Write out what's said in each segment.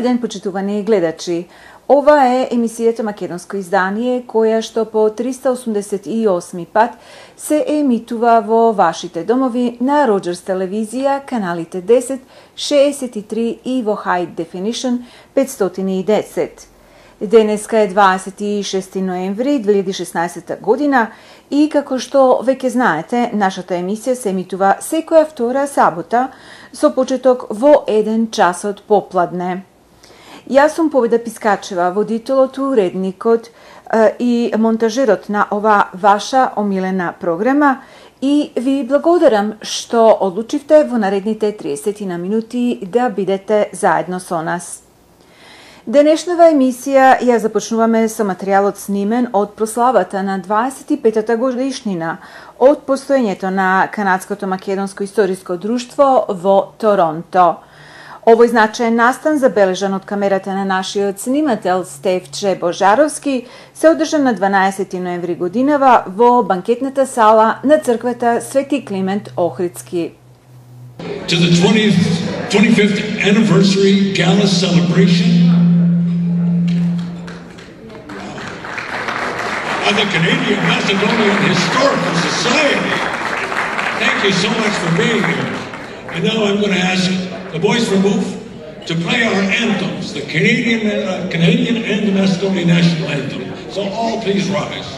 Добар ден, почитувани гледачи. Ова е емисијата Македонско издание, која што по 388 пат се емитува во вашите домови на Роџерс телевизија, каналите 10, 63 и во High Definition 510. Денеска е 26 ноември 2016 година и како што веќе знаете, нашата емисија се емитува секоја втора сабота со почеток во 1 часот попладне. Јас сум Победа Пискачева, водителот, уредникот и монтажерот на ова ваша омилена програма и ви благодарам што одлучивте во наредните 30 на минути да бидете заедно со нас. Денешнава емисија ја започнуваме со материјалот снимен од прославата на 25-та годишнина од постоењето на Канадското македонско историско друштво во Торонто. Овој значаен настан, забележан од камерата на нашиот снимател Стефче Божаровски, се одржан на 12 ноември годинава во банкетната сала на црквата Свети Климент Охридски. To the 25th anniversary gala celebration of the Canadian Macedonian Historical Society. Thank you so much for being here. And now I'm going to ask the boys from MOVE to play our anthems, the Canadian and the Macedonian national anthem. So all please rise.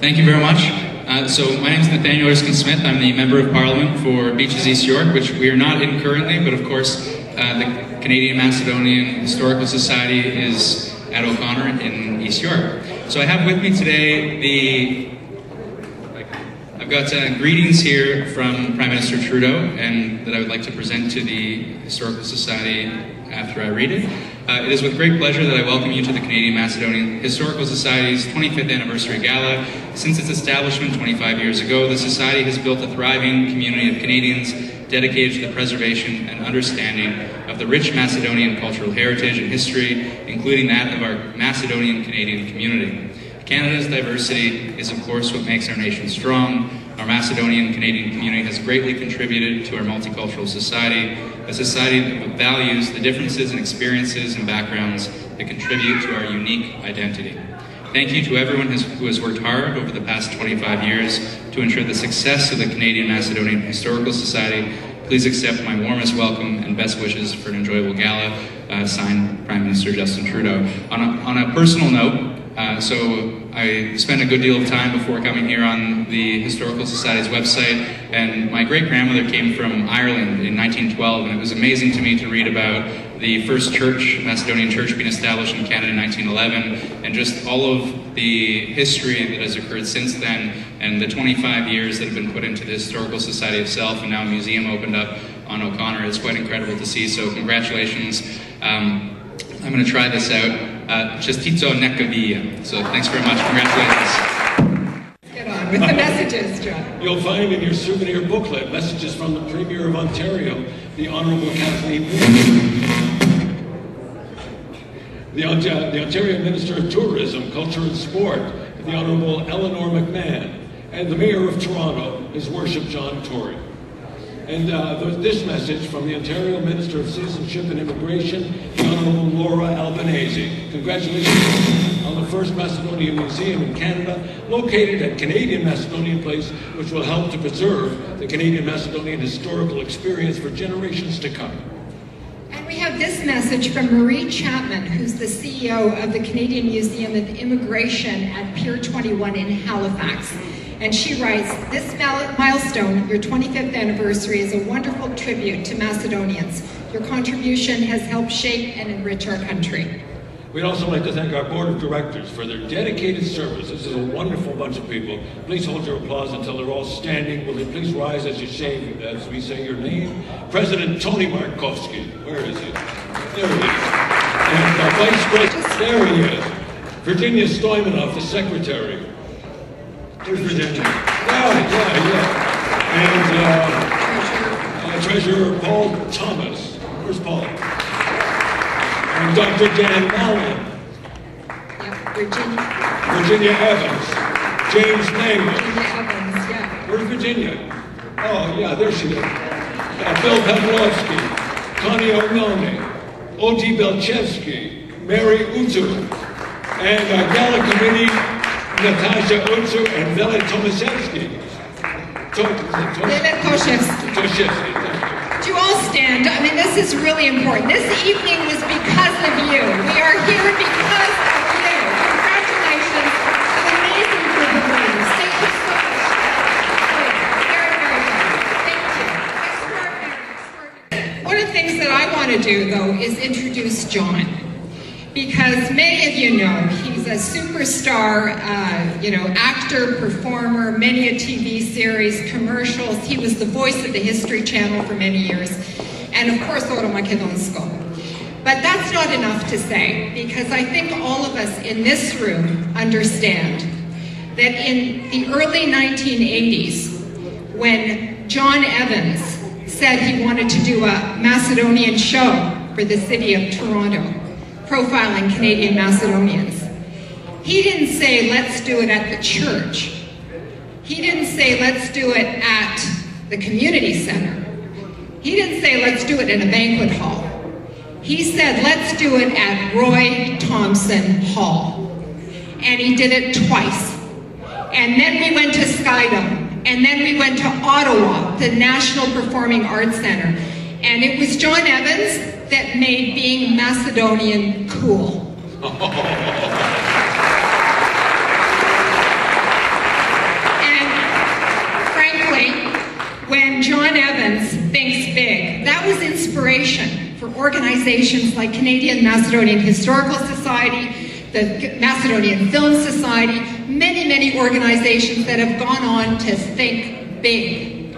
Thank you very much. So my name is Nathaniel Erskine-Smith. I'm the Member of Parliament for Beaches East York, which we are not in currently, but of course the Canadian Macedonian Historical Society is at O'Connor in East York. So I have with me today I've got greetings here from Prime Minister Trudeau and that I would like to present to the Historical Society after I read it. It is with great pleasure that I welcome you to the Canadian Macedonian Historical Society's 25th Anniversary Gala. Since its establishment 25 years ago, the Society has built a thriving community of Canadians dedicated to the preservation and understanding of the rich Macedonian cultural heritage and history, including that of our Macedonian Canadian community. Canada's diversity is, of course, what makes our nation strong. Our Macedonian Canadian community has greatly contributed to our multicultural society, a society that values the differences in experiences and backgrounds that contribute to our unique identity. Thank you to everyone who has worked hard over the past 25 years to ensure the success of the Canadian Macedonian Historical Society. Please accept my warmest welcome and best wishes for an enjoyable gala, signed Prime Minister Justin Trudeau. On a personal note, so I spent a good deal of time before coming here on the Historical Society's website, and my great-grandmother came from Ireland in 1912, and it was amazing to me to read about the first church, Macedonian church, being established in Canada in 1911, and just all of the history that has occurred since then, and the 25 years that have been put into the Historical Society itself, and now a museum opened up on O'Connor. It's quite incredible to see, so congratulations. I'm going to try this out. Čestito neka vija. So thanks very much. Congratulations. Get on with the messages, John. You'll find in your souvenir booklet messages from the Premier of Ontario, the Honourable Kathleen Wynne, the Ontario Minister of Tourism, Culture and Sport, the Honourable Eleanor McMahon, and the Mayor of Toronto, His Worship John Tory. And this message from the Ontario Minister of Citizenship and Immigration, the Honourable Laura Albanese. Congratulations on the first Macedonian Museum in Canada, located at Canadian Macedonian Place, which will help to preserve the Canadian Macedonian historical experience for generations to come. And we have this message from Marie Chapman, who's the CEO of the Canadian Museum of Immigration at Pier 21 in Halifax. And she writes, this milestone, your 25th anniversary, is a wonderful tribute to Macedonians. Your contribution has helped shape and enrich our country. We'd also like to thank our board of directors for their dedicated service. This is a wonderful bunch of people. Please hold your applause until they're all standing. Will you please rise as we say your name? President Tony Markovsky. Where is he? There he is. And Vice President, there he is. Virginia Stoimanov, the secretary. There's Virginia. Yeah. And Treasurer Paul Thomas. Where's Paul? And Dr. Dan Mallon. Yeah, Virginia Evans. James Nagel. Virginia Evans, yeah. Where's Virginia? Oh, yeah, there she is. Bill Pavlovsky. Connie O'Melney. Oti Belchevsky. Mary Utu. And our gala committee, Natasha Utsu and Vele Tomaszewski. Vele Toshevsky. Do you all stand? I mean, this is really important. This evening was because of you. We are here because of you. Congratulations. An amazing group of ladies. Thank you so much. Very, very good. Thank you. Extraordinary. One of the things that I want to do, though, is introduce John. Because many of you know, he's a superstar, actor, performer, many a TV series, commercials. He was the voice of the History Channel for many years. And of course, Oro Makedonsko. But that's not enough to say, because I think all of us in this room understand that in the early 1980s, when John Evans said he wanted to do a Macedonian show for the city of Toronto, profiling Canadian Macedonians, he didn't say, let's do it at the church. He didn't say, let's do it at the community center. He didn't say, let's do it in a banquet hall. He said, let's do it at Roy Thomson Hall. And he did it twice. And then we went to Skydome. And then we went to Ottawa, the National Performing Arts Center. And it was John Evans that made being Macedonian cool. And frankly, when John Evans thinks big, that was inspiration for organizations like Canadian Macedonian Historical Society, the Macedonian Film Society, many organizations that have gone on to think big.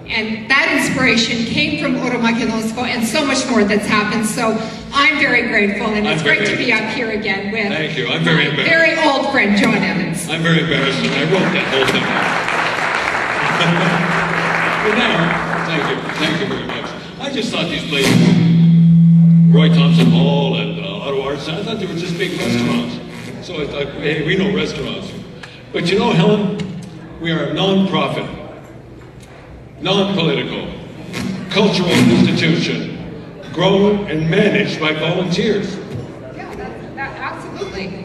And that inspiration came from Oro Makedonsko and so much more that's happened. So I'm very grateful, and it's great to be up here again with Thank you. I'm very embarrassed. Very old friend, John Evans. I'm very embarrassed, and I wrote that whole thing. But now, thank you very much. I just thought these places, Roy Thompson Hall and Ottawa Arts, I thought they were just big restaurants. So I thought, hey, we know restaurants. But you know, Helen, we are a non-profit, non-political, cultural institution, grown and managed by volunteers. Yeah, absolutely.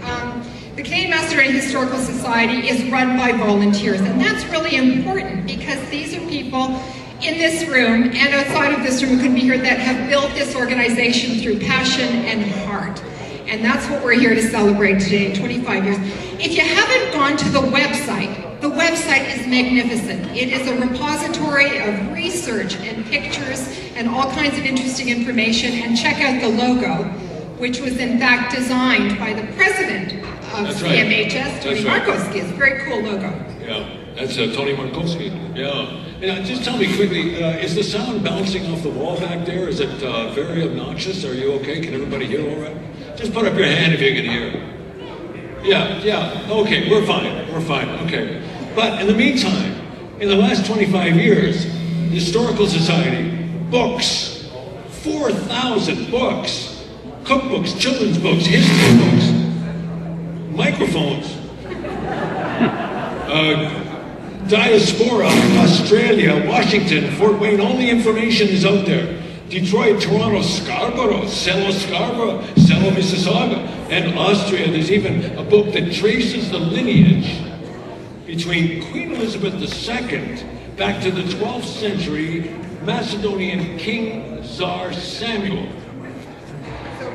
The Canadian Macedonian Historical Society is run by volunteers, and that's really important because these are people in this room and outside of this room who could be here that have built this organization through passion and heart. And that's what we're here to celebrate today, 25 years. If you haven't gone to the website is magnificent. It is a repository of research and pictures and all kinds of interesting information. And check out the logo, which was in fact designed by the president of CMHS, Tony Markowski. It's a very cool logo. Yeah, that's Tony Markowski. Yeah. And just tell me quickly, is the sound bouncing off the wall back there? Is it very obnoxious? Are you okay? Can everybody hear all right? Just put up your hand if you can hear. Yeah, okay, we're fine, okay. But in the meantime, in the last 25 years, the Historical Society, books, 4,000 books, cookbooks, children's books, history books, microphones, diaspora, Australia, Washington, Fort Wayne, all the information is out there. Detroit, Toronto, Scarborough, Sello, Mississauga, and Austria. There's even a book that traces the lineage between Queen Elizabeth II back to the 12th century Macedonian King Tsar Samuel. So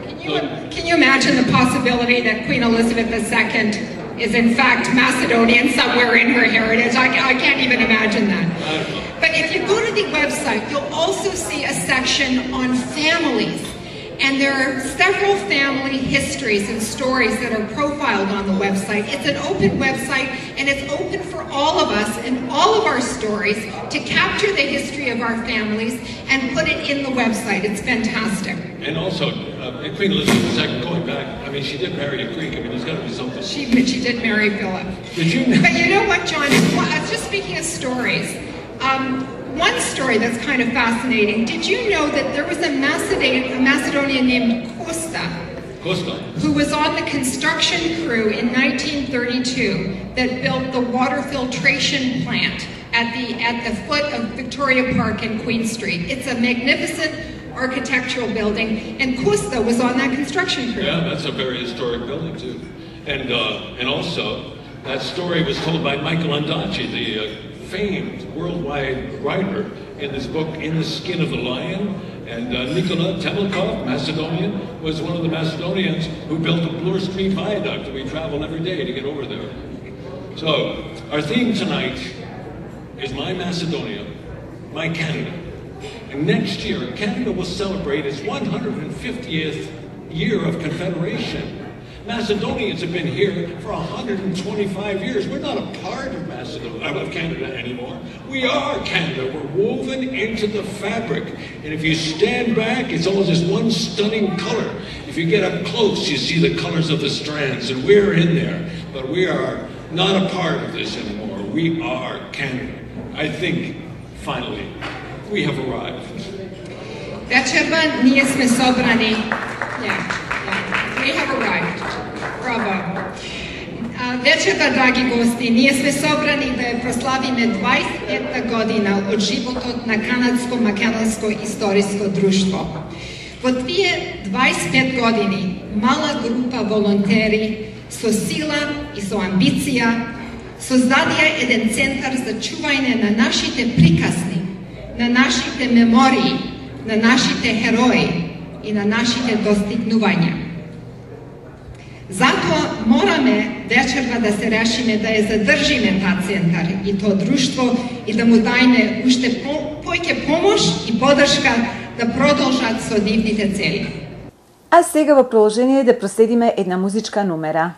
can you imagine the possibility that Queen Elizabeth II is in fact Macedonian somewhere in her heritage? I can't even imagine that. But if you go to the website, you'll also see a section on families. And there are several family histories and stories that are profiled on the website. It's an open website, and it's open for all of us and all of our stories to capture the history of our families and put it in the website. It's fantastic. And also, Queen Elizabeth II, going back, I mean, she did marry a Greek. I mean, there's got to be something. She did marry Philip. Did you? But you know what, John? Just speaking of stories, one story that's kind of fascinating. Did you know that there was a Macedonian named Costa, who was on the construction crew in 1932 that built the water filtration plant at the foot of Victoria Park and Queen Street? It's a magnificent architectural building, and Costa was on that construction crew. Yeah, that's a very historic building too. And also, that story was told by Michael Ondaatje, the famed worldwide writer in this book, In the Skin of the Lion. And Nikola Temlikov, Macedonian, was one of the Macedonians who built the Bloor Street Viaduct, and we travel every day to get over there. So, our theme tonight is My Macedonia, My Canada. And next year, Canada will celebrate its 150th year of Confederation. Macedonians have been here for 125 years. We're not a part of Canada anymore. We are Canada. We're woven into the fabric. And if you stand back, it's all just one stunning color. If you get up close, you see the colors of the strands, and we're in there. But we are not a part of this anymore. We are Canada. I think, finally, we have arrived. Večerva nije sme sobrani. We have arrived. Bravo. Večerva, dragi gosti, nije sme sobrani da je proslavime 25 godina od životot na kanadsko-makedonsko istorijsko društvo. Во тие 25 години, мала група волонтери со сила и со амбиција создадија еден центар за чување на нашите приказни, на нашите мемории, на нашите херои и на нашите достигнувања. Затоа мораме вечерва да се решиме да ја задржиме таа центар и тоа друштво и да му дајме уште поќе помош и поддршка да продолжат со дивните цели. А сега во продолжение да проследиме една музичка номера.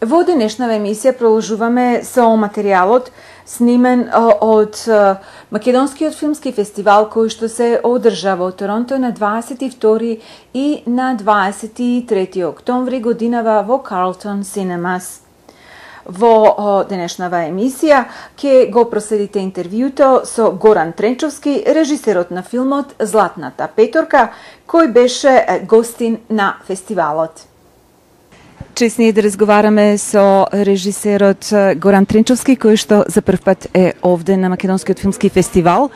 Во денешнава емисија продолжуваме со материјалот снимен од Македонскиот филмски фестивал кој што се одржа во Торонто на 22 и на 23 октомври годинава во Carlton Cinemas. Во денешнава емисија ќе го проследите интервјуто со Горан Тренчовски, режисерот на филмот Златната петорка, кој беше гостин на фестивалот. Чест ние да разговараме со режисерот Горан Тренчовски, кој што за прв пат е овде на Македонскиот филмски фестивал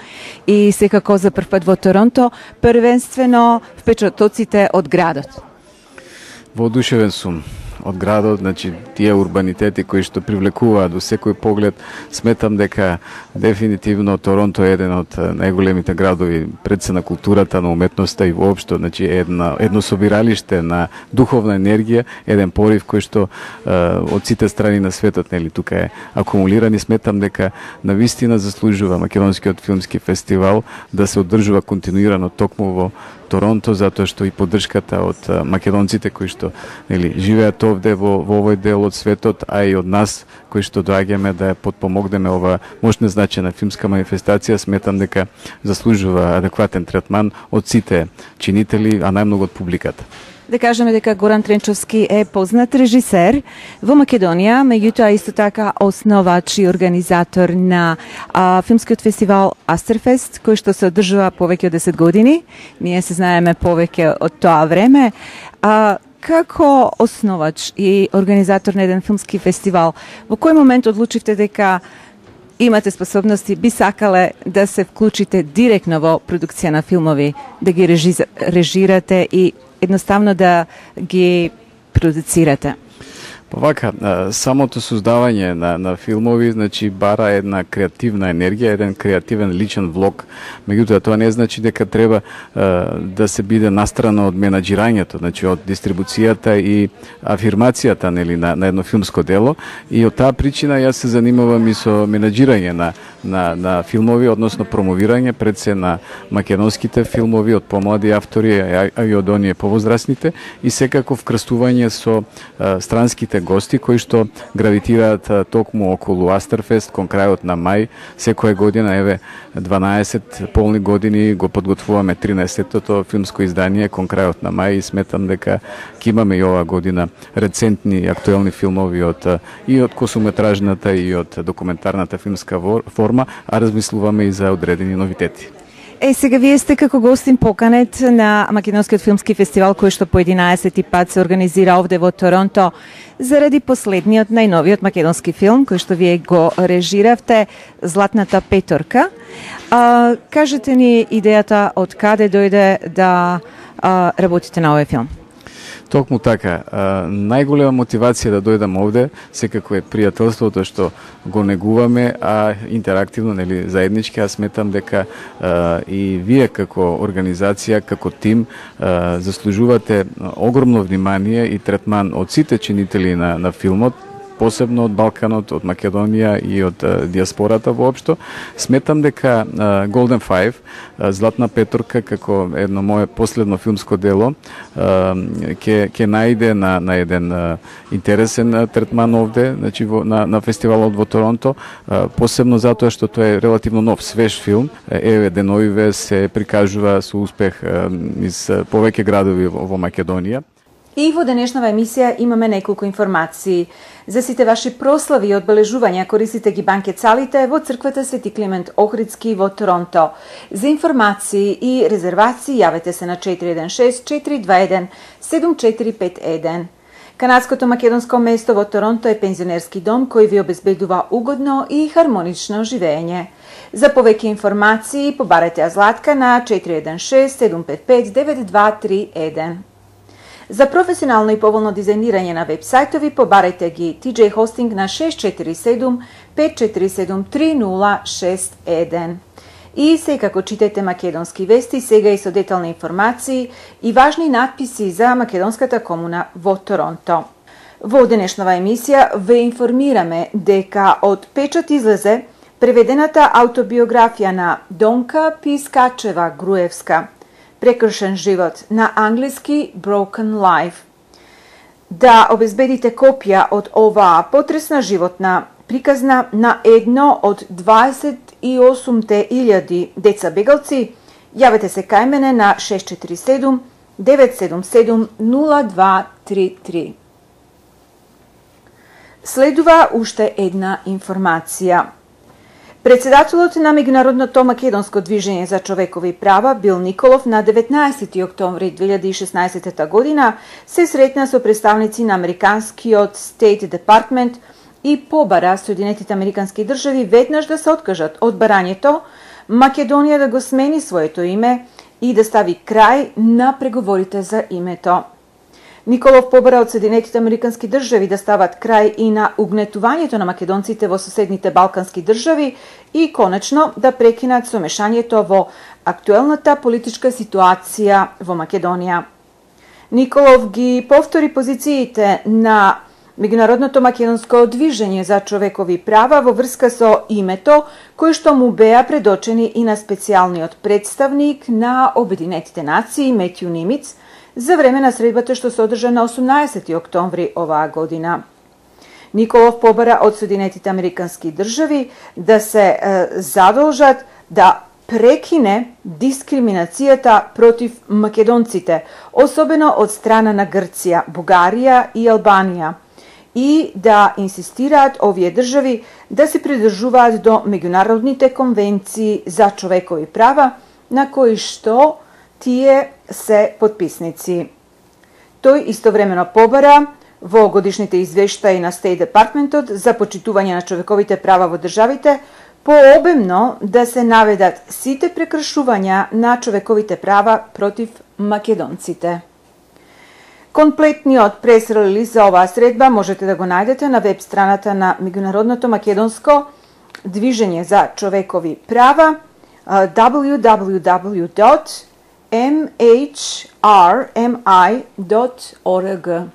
и секако за прв пат во Торонто, првенствено впечатоците од градот. Воодушевен сум од градот, значи тие урбанитети кои што привлекуваат до секој поглед. Сметам дека дефинитивно Торонто е еден од најголемите градови пред се на културата, на уметноста и воопшто, значи едно собиралиште на духовна енергија, еден порив кој што од сите страни на светот нели тука е акумулиран и сметам дека навистина заслужува Македонскиот филмски фестивал да се одржува континуирано токму во Торонто, затоа што и поддршката од македонците кои што нели живеат овде во овој дел од светот, а и од нас кои што доаѓаме да ја подпомогнеме ова мощна значајна филмска манифестација, сметам дека заслужува адекватен третман од сите чинители, а најмногу од публиката. Да кажеме дека Горан Тренчовски е познат режисер во Македонија, меѓутоа исто така основач и организатор на филмскиот фестивал Астерфест, кој што се одржува повеќе од 10 години. Ние се знаеме повеќе од тоа време. Како основач и организатор на еден филмски фестивал, во кој момент одлучивте дека имате способности, би сакале да се вклучите директно во продукција на филмови, да ги режирате и едноставно да ги продуцирате? Вака, самото создавање на филмови, значи, бара една креативна енергија, еден креативен личен влог. Меѓутоа, тоа не значи дека треба да се биде настрана од менаџирањето, значи од дистрибуцијата и афирмацијата нели на едно филмско дело. И од таа причина јас се занимавам и со менаџирање на филмови, односно промовирање пред се на македонските филмови од помлади автори, а и од оние повозрастните, и секако вкрстување со странските гости кои што гравитираат токму околу Астерфест кон крајот на мај. Секоја година, еве 12 полни години го подготвуваме 13-тото филмско издание кон крајот на мај и сметам дека ќе имаме и оваа година рецентни и актуелни филмови и од косометражната и од документарната филмска форма, а размислуваме и за одредени новитети. Сега вие сте како гостин поканет на Македонскиот филмски фестивал кој што по 11 пат се организира овде во Торонто заради последниот најновиот македонски филм кој што вие го режиравте, Златната петорка. Кажете ни идејата од каде дојде да работите на овој филм? Токму така, најголема мотивација да дојдам овде секако е пријателството што го негуваме, а интерактивно, нели, заеднички. Аз сметам дека и вие како организација, како тим, заслужувате огромно внимание и третман од сите чинители на филмот, посебно од Балканот, од Македонија и од диаспората воопшто. Сметам дека Golden Five, Златна петорка, како едно мое последно филмско дело, ќе најде на еден интересен третман овде, значи на фестивалот во Торонто, посебно затоа што тоа е релативно нов, свеж филм. Еве деновиве се прикажува со успех из повеќе градови во Македонија. И во денешнава емисија имаме неколку информации. За сите ваши прослави и одбележувања користите ги банкет-салите во црквата Свети Климент Охридски во Торонто. За информации и резервации јавете се на 416-421-7451. Канадското македонско место во Торонто е пензионерски дом кој ви обезбедува угодно и хармонично живење. За повеќе информации побарете ја Златка на 416-755-9231. За професионално и поволно дизајнирање на веб-сајтови побарајте ги TJ Hosting на 647-547-3061. И секако читајте македонски вести, сега и со детални информации и важни надписи за македонската комуна во Торонто. Во денешнова емисија ве информираме дека од печат излезе преведената автобиографија на Донка Пискачева-Груевска, Прекршен живот, на англиски Broken Life. да обезбедите копија од оваа потресна животна приказна на едно од 28.000 деца бегалци, јавете се кај мене на 647 977 0233. Следува уште една информација. Председателот на Меѓународното македонско движење за човекови права Бил Николов на 19 октомври 2016 година се сретна со представници на Американскиот State Department и побара Соединетите Американски држави веднаш да се откажат од барањето Македонија да го смени своето име и да стави крај на преговорите за името. Николов побара од Соединетите Американски држави да стават крај и на угнетувањето на македонците во соседните балкански држави и конечно да прекинат со мешањето во актуелната политичка ситуација во Македонија. Николов ги повтори позициите на Меѓународното македонско движење за човекови права во врска со името, кои што му беа предочени и на специјалниот представник на Обединетите нации Метју Нимиц за време на средбата што се одржа на 18 октомври оваа година. Николов побара од Соединетите Американски држави да се задолжат да прекине дискриминацијата против македонците, особено од страна на Грција, Бугарија и Албанија, и да инсистираат овие држави да се придржуваат до меѓународните конвенции за човекови права на кои што тие се потписници. Тој истовремено побара во годишните извештаи на State Departmentот за почитување на човековите права во државите пообемно да се наведат сите прекршувања на човековите права против македонците. Комплетниот прес-релиз за оваа средба можете да го најдете на веб страната на Меѓународното македонско движење за човекови права www.mhrmi.org.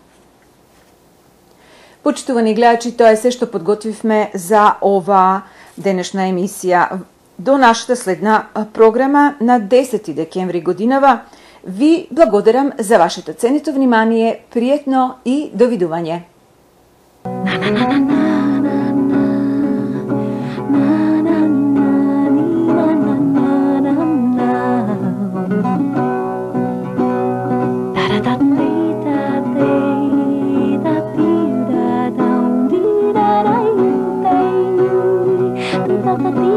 Почитувани гледачи, тоа е се што подготвивме за оваа денешна емисија. До нашата следна програма на 10 декември годинава ви благодарам за вашето ценито внимание, пријатно и довидување. Da